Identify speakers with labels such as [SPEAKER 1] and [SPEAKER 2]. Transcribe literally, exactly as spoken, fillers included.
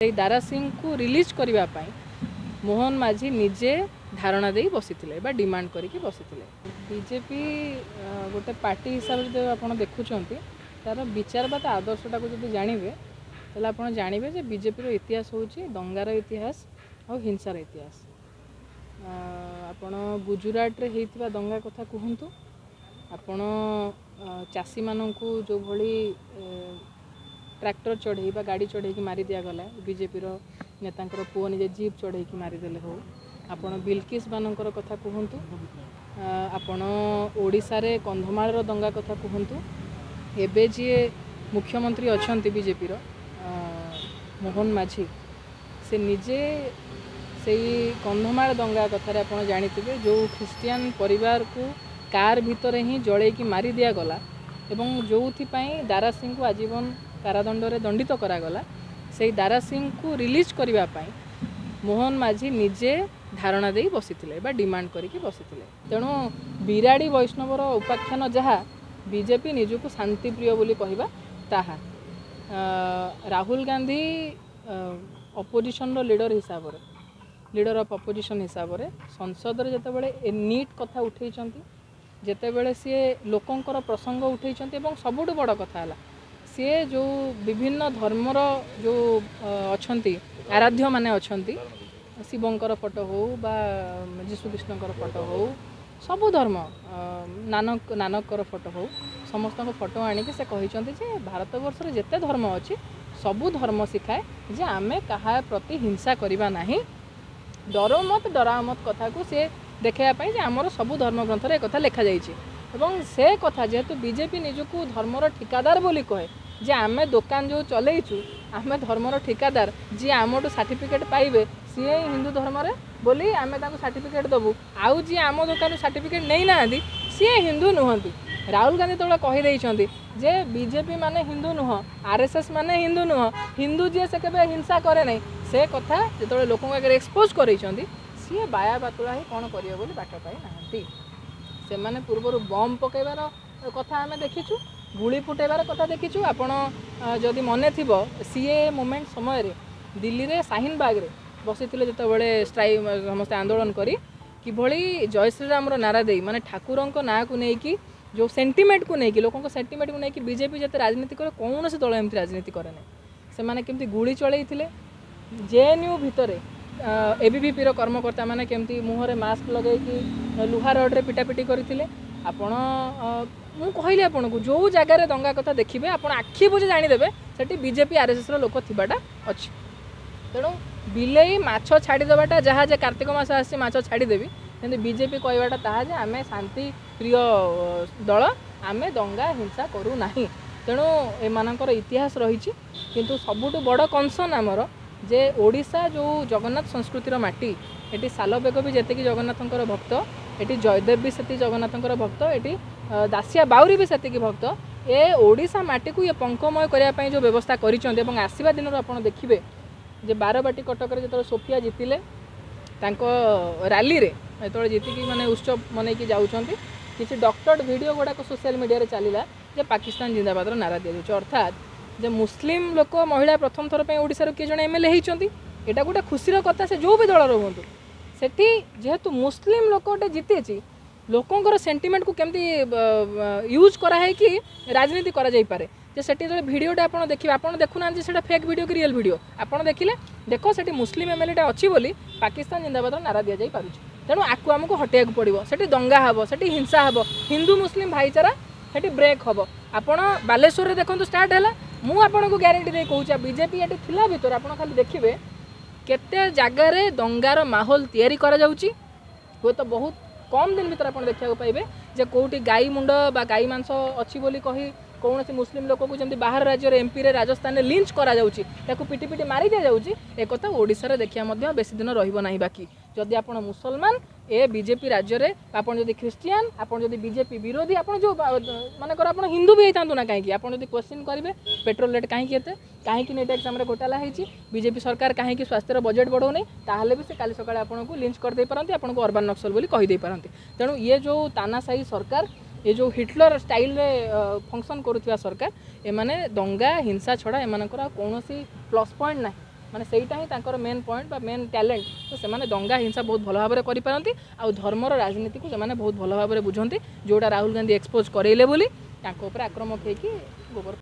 [SPEAKER 1] ସେଇ ଦାରା ସିଂଙ୍କୁ ରିଲିଜ୍ କରିବା ପାଇଁ ମୋହନ ମାଝୀ ନିଜେ ଧାରଣା ଦେଇ ବସିଥିଲେ ବା ଡିମାଣ୍ଡ କରିକି ବସିଥିଲେ। ବିଜେପି ଗୋଟେ ପାର୍ଟି ହିସାବରେ ଯଦି ଆପଣ ଦେଖୁଛନ୍ତି, ତା'ର ବିଚାର ବା ତା ଆଦର୍ଶଟାକୁ ଯଦି ଜାଣିବେ, ତାହେଲେ ଆପଣ ଜାଣିବେ ଯେ ବିଜେପିର ଇତିହାସ ହେଉଛି ଦଙ୍ଗାର ଇତିହାସ ଆଉ ହିଂସାର ଇତିହାସ। ଆପଣ ଗୁଜୁରାଟରେ ହେଇଥିବା ଦଙ୍ଗା କଥା କୁହନ୍ତୁ, ଆପଣ ଚାଷୀମାନଙ୍କୁ ଯେଉଁଭଳି ଟ୍ରାକ୍ଟର ଚଢ଼େଇ ବା ଗାଡ଼ି ଚଢ଼େଇକି ମାରି ଦିଆଗଲା, ବିଜେପିର ନେତାଙ୍କର ପୁଅ ନିଜେ ଜିପ୍ ଚଢ଼େଇକି ମାରିଦେଲେ ହଉ, ଆପଣ ବିଲକିସ୍ ମାନଙ୍କର କଥା କୁହନ୍ତୁ, ଆପଣ ଓଡ଼ିଶାରେ କନ୍ଧମାଳର ଦଙ୍ଗା କଥା କୁହନ୍ତୁ, ଏବେ ଯିଏ ମୁଖ୍ୟମନ୍ତ୍ରୀ ଅଛନ୍ତି ବିଜେପିର ମୋହନ ମାଝୀ, ସେ ନିଜେ ସେଇ କନ୍ଧମାଳ ଦଙ୍ଗା କଥାରେ ଆପଣ ଜାଣିଥିବେ, ଯେଉଁ ଖ୍ରୀଷ୍ଟିଆନ ପରିବାରକୁ କାର୍ ଭିତରେ ହିଁ ଜଳେଇକି ମାରି ଦିଆଗଲା ଏବଂ ଯେଉଁଥିପାଇଁ ଦାରା ସିଂଙ୍କୁ ଆଜୀବନ କାରାଦଣ୍ଡରେ ଦଣ୍ଡିତ କରାଗଲା, ସେଇ ଦାରା ସିଂଙ୍କୁ ରିଲିଜ୍ କରିବା ପାଇଁ ମୋହନ ମାଝୀ ନିଜେ ଧାରଣା ଦେଇ ବସିଥିଲେ ବା ଡିମାଣ୍ଡ କରିକି ବସିଥିଲେ। ତେଣୁ ବିରାଡ଼ି ବୈଷ୍ଣବର ଉପାଖ୍ୟାନ ଯାହା, ବିଜେପି ନିଜକୁ ଶାନ୍ତିପ୍ରିୟ ବୋଲି କହିବା ତାହା। ରାହୁଲ ଗାନ୍ଧୀ ଅପୋଜିସନର ଲିଡର ହିସାବରେ, ଲିଡର ଅଫ୍ ଅପୋଜିସନ୍ ହିସାବରେ ସଂସଦରେ ଯେତେବେଳେ ଏ ନିଟ୍ କଥା ଉଠେଇଛନ୍ତି, ଯେତେବେଳେ ସିଏ ଲୋକଙ୍କର ପ୍ରସଙ୍ଗ ଉଠେଇଛନ୍ତି, ଏବଂ ସବୁଠୁ ବଡ଼ କଥା ହେଲା ସିଏ ଯେଉଁ ବିଭିନ୍ନ ଧର୍ମର ଯେଉଁ ଅଛନ୍ତି ଆରାଧ୍ୟମାନେ ଅଛନ୍ତି, ଶିବଙ୍କର ଫଟୋ ହଉ ବା ଯୀଶୁଖ୍ରୀଷ୍ଟଙ୍କର ଫଟୋ ହଉ, ସବୁ ଧର୍ମ, ନାନକ ନାନକଙ୍କର ଫଟୋ ହଉ, ସମସ୍ତଙ୍କ ଫଟୋ ଆଣିକି ସେ କହିଛନ୍ତି ଯେ ଭାରତବର୍ଷରେ ଯେତେ ଧର୍ମ ଅଛି ସବୁ ଧର୍ମ ଶିଖାଏ ଯେ ଆମେ କାହା ପ୍ରତି ହିଂସା କରିବା ନାହିଁ। ଡରୋ ମତ ଡରାଓ ମତ କଥାକୁ ସିଏ ଦେଖାଇବା ପାଇଁ ଯେ ଆମର ସବୁ ଧର୍ମଗ୍ରନ୍ଥରେ ଏକଥା ଲେଖାଯାଇଛି। ଏବଂ ସେ କଥା ଯେହେତୁ ବିଜେପି ନିଜକୁ ଧର୍ମର ଠିକାଦାର ବୋଲି କହେ, ଯେ ଆମେ ଦୋକାନ ଯେଉଁ ଚଲେଇଛୁ ଆମେ ଧର୍ମର ଠିକାଦାର, ଯିଏ ଆମଠୁ ସାର୍ଟିଫିକେଟ୍ ପାଇବେ ସିଏ ହିଁ ହିନ୍ଦୁ ଧର୍ମରେ ବୋଲି ଆମେ ତାଙ୍କୁ ସାର୍ଟିଫିକେଟ୍ ଦେବୁ, ଆଉ ଯିଏ ଆମ ଦୋକାନରୁ ସାର୍ଟିଫିକେଟ୍ ନେଇନାହାନ୍ତି ସିଏ ହିନ୍ଦୁ ନୁହନ୍ତି। ରାହୁଲ ଗାନ୍ଧୀ ଯେତେବେଳେ କହିଦେଇଛନ୍ତି ଯେ ବିଜେପି ମାନେ ହିନ୍ଦୁ ନୁହଁ, ଆର୍ ଏସ୍ ଏସ୍ ମାନେ ହିନ୍ଦୁ ନୁହଁ, ହିନ୍ଦୁ ଯିଏ ସେ କେବେ ହିଂସା କରେ ନାହିଁ, ସେ କଥା ଯେତେବେଳେ ଲୋକଙ୍କ ଆଗରେ ଏକ୍ସପୋଜ୍ କରେଇଛନ୍ତି, ସିଏ ବାୟା ବାତୁଳା ହେଇ କ'ଣ କରିବେ ବୋଲି ବାଟ ପାଇନାହାନ୍ତି। ସେମାନେ ପୂର୍ବରୁ ବମ୍ ପକାଇବାର କଥା ଆମେ ଦେଖିଛୁ, ଗୁଳି ଫୁଟାଇବାର କଥା ଦେଖିଛୁ। ଆପଣ ଯଦି ମନେ ଥିବ, ସି ଏ ମୁଭମେଣ୍ଟ ସମୟରେ ଦିଲ୍ଲୀରେ ଶାହିନବାଗରେ ବସିଥିଲେ ଯେତେବେଳେ ଷ୍ଟ୍ରାଇକ୍ ସମସ୍ତେ ଆନ୍ଦୋଳନ କରି କିଭଳି ଜୟ ଶ୍ରୀରାମର ନାରା ଦେଇ, ମାନେ ଠାକୁରଙ୍କ ନାଁକୁ ନେଇକି ଯେଉଁ ସେଣ୍ଟିମେଣ୍ଟକୁ ନେଇକି, ଲୋକଙ୍କ ସେଣ୍ଟିମେଣ୍ଟକୁ ନେଇକି ବିଜେପି ଯେତେ ରାଜନୀତି କରେ କୌଣସି ଦଳ ଏମିତି ରାଜନୀତି କରେ ନାହିଁ। ସେମାନେ କେମିତି ଗୁଳି ଚଳେଇଥିଲେ, ଜେଏନ୍ୟୁ ଭିତରେ ଏବିଭିପିର କର୍ମକର୍ତ୍ତାମାନେ କେମିତି ମୁହଁରେ ମାସ୍କ ଲଗେଇକି ଲୁହା ରଡ଼ରେ ପିଟାପିଟି କରିଥିଲେ। ଆପଣ ମୁଁ କହିଲି ଆପଣଙ୍କୁ, ଯେଉଁ ଜାଗାରେ ଦଙ୍ଗା କଥା ଦେଖିବେ ଆପଣ ଆଖି ବୁଜି ଜାଣିଦେବେ ସେଠି ବିଜେପି ଆର୍ ଏସ୍ ଏସ୍ର ଲୋକ ଥିବାଟା ଅଛି। ତେଣୁ ବିଲେଇ ମାଛ ଛାଡ଼ିଦେବାଟା ଯାହା ଯେ କାର୍ତ୍ତିକ ମାସ ଆସିଛି ମାଛ ଛାଡ଼ିଦେବି, କିନ୍ତୁ ବିଜେପି କହିବାଟା ତାହା ଯେ ଆମେ ଶାନ୍ତି ପ୍ରିୟ ଦଳ, ଆମେ ଦଙ୍ଗା ହିଂସା କରୁନାହିଁ। ତେଣୁ ଏମାନଙ୍କର ଇତିହାସ ରହିଛି। କିନ୍ତୁ ସବୁଠୁ ବଡ଼ କନସର୍ନ ଆମର ଯେ ଓଡ଼ିଶା ଯେଉଁ ଜଗନ୍ନାଥ ସଂସ୍କୃତିର ମାଟି, ଏଠି ସାଲବେଗ ବି ଯେତିକି ଜଗନ୍ନାଥଙ୍କର ଭକ୍ତ, ଏଠି ଜୟଦେବ ବି ସେତିକି ଜଗନ୍ନାଥଙ୍କର ଭକ୍ତ, ଏଠି ଦାସିଆ ବାଉରୀ ବି ସେତିକି ଭକ୍ତ। ଏ ଓଡ଼ିଶା ମାଟିକୁ ଇଏ ପଙ୍କମୟ କରିବା ପାଇଁ ଯେଉଁ ବ୍ୟବସ୍ଥା କରିଛନ୍ତି, ଏବଂ ଆସିବା ଦିନରୁ ଆପଣ ଦେଖିବେ ଯେ ବାରବାଟୀ କଟକରେ ଯେତେବେଳେ ସୋଫିଆ ଜିତିଲେ, ତାଙ୍କ ରାଲିରେ ଯେତେବେଳେ ଜିତିକି ମାନେ ଉତ୍ସବ ମନେଇକି ଯାଉଛନ୍ତି, କିଛି ଡକ୍ଟର୍ଡ ଭିଡ଼ିଓ ଗୁଡ଼ାକ ସୋସିଆଲ ମିଡ଼ିଆରେ ଚାଲିଲା ଯେ ପାକିସ୍ତାନ ଜିନ୍ଦାବାଦର ନାରା ଦିଆଯାଉଛି। ଅର୍ଥାତ୍ ଯେ ମୁସଲିମ ଲୋକ ମହିଳା ପ୍ରଥମ ଥର ପାଇଁ ଓଡ଼ିଶାରୁ କିଏ ଜଣେ ଏମ୍ ଏଲ୍ ଏ ହେଇଛନ୍ତି, ଏଇଟା ଗୋଟେ ଖୁସିର କଥା, ସେ ଯେଉଁ ବି ଦଳର ହୁଅନ୍ତୁ। ସେଠି ଯେହେତୁ ମୁସଲିମ ଲୋକ ଗୋଟେ ଜିତିଛି, ଲୋକଙ୍କର ସେଣ୍ଟିମେଣ୍ଟକୁ କେମିତି ୟୁଜ୍ କରାହେଇକି ରାଜନୀତି କରାଯାଇପାରେ, ଯେ ସେଠି ଯେତେବେଳେ ଭିଡ଼ିଓଟା ଆପଣ ଦେଖିବେ, ଆପଣ ଦେଖୁନାହାନ୍ତି ସେଇଟା ଫେକ୍ ଭିଡ଼ିଓ କି ରିଏଲ୍ ଭିଡ଼ିଓ, ଆପଣ ଦେଖିଲେ ଦେଖ ସେଠି ମୁସଲିମ ଏମ୍ ଏଲ୍ ଏଟା ଅଛି ବୋଲି ପାକିସ୍ତାନ ଜିନ୍ଦାବାଦର ନାରା ଦିଆଯାଇପାରୁଛି। ତେଣୁ ଆକୁ ଆମକୁ ହଟେଇବାକୁ ପଡ଼ିବ। ସେଠି ଦଙ୍ଗା ହେବ, ସେଠି ହିଂସା ହେବ, ହିନ୍ଦୁ ମୁସଲିମ ଭାଇଚାରା ସେଠି ବ୍ରେକ୍ ହେବ। ଆପଣ ବାଲେଶ୍ୱରରେ ଦେଖନ୍ତୁ ଷ୍ଟାର୍ଟ ହେଲା, ମୁଁ ଆପଣଙ୍କୁ ଗ୍ୟାରେଣ୍ଟି ଦେଇ କହୁଛି, ବିଜେପି ଏଠି ଥିଲା ଭିତରେ ଆପଣ ଖାଲି ଦେଖିବେ କେତେ ଜାଗାରେ ଦଙ୍ଗାର ମାହୋଲ ତିଆରି କରାଯାଉଛି। ହୁଏତ ବହୁତ କମ୍ ଦିନ ଭିତରେ ଆପଣ ଦେଖିବାକୁ ପାଇବେ ଯେ କେଉଁଠି ଗାଈ ମୁଣ୍ଡ ବା ଗାଈ ମାଂସ ଅଛି ବୋଲି କହି କୌଣସି ମୁସଲିମ ଲୋକକୁ ଯେମିତି ବାହାର ରାଜ୍ୟରେ ଏମ୍ପିରେ ରାଜସ୍ଥାନରେ ଲିଞ୍ଚ କରାଯାଉଛି, ତାକୁ ପିଟି ପିଟି ମାରି ଦିଆଯାଉଛି, ଏକଥା ଓଡ଼ିଶାରେ ଦେଖିବା ମଧ୍ୟ ବେଶୀ ଦିନ ରହିବ ନାହିଁ ବାକି। ଯଦି ଆପଣ ମୁସଲମାନ ଏ ବିଜେପି ରାଜ୍ୟରେ, ଆପଣ ଯଦି ଖ୍ରୀଷ୍ଟିଆନ, ଆପଣ ଯଦି ବିଜେପି ବିରୋଧୀ, ଆପଣ ଯେଉଁ ମନେକର ଆପଣ ହିନ୍ଦୁ ବି ହେଇଥାନ୍ତୁ ନା କାହିଁକି, ଆପଣ ଯଦି କ୍ୱେଶ୍ଚିନ୍ କରିବେ ପେଟ୍ରୋଲ ରେଟ୍ କାହିଁକି ଏତେ, କାହିଁକି ନିଟ୍ ଏକ୍ଜାମ୍ରେ ଘୋଟାଲା ହେଇଛି, ବିଜେପି ସରକାର କାହିଁକି ସ୍ୱାସ୍ଥ୍ୟର ବଜେଟ୍ ବଢ଼ଉନି, ତାହେଲେ ବି ସେ କାଲି ସକାଳେ ଆପଣଙ୍କୁ ଲିଞ୍ଚ କରିଦେଇପାରନ୍ତି, ଆପଣଙ୍କୁ ଅର୍ବାନ୍ ନକ୍ସଲ ବୋଲି କହିଦେଇପାରନ୍ତି। ତେଣୁ ଇଏ ଯେଉଁ ତାନାଶାହୀ ସରକାର, ଏ ଯେଉଁ ହିଟଲର ଷ୍ଟାଇଲରେ ଫଙ୍କସନ୍ କରୁଥିବା ସରକାର, ଏମାନେ ଦଙ୍ଗା ହିଂସା ଛଡ଼ା ଏମାନଙ୍କର ଆଉ କୌଣସି ପ୍ଲସ୍ ପଏଣ୍ଟ ନାହିଁ। ମାନେ ସେଇଟା ହିଁ ତାଙ୍କର ମେନ୍ ପଏଣ୍ଟ ବା ମେନ୍ ଟ୍ୟାଲେଣ୍ଟ। ତ ସେମାନେ ଦଙ୍ଗା ହିଂସା ବହୁତ ଭଲ ଭାବରେ କରିପାରନ୍ତି, ଆଉ ଧର୍ମର ରାଜନୀତିକୁ ସେମାନେ ବହୁତ ଭଲ ଭାବରେ ବୁଝନ୍ତି, ଯେଉଁଟା ରାହୁଲ ଗାନ୍ଧୀ ଏକ୍ସପୋଜ୍ କରେଇଲେ ବୋଲି ତାଙ୍କ ଉପରେ ଆକ୍ରମକ ହେଇକି ଗୋବର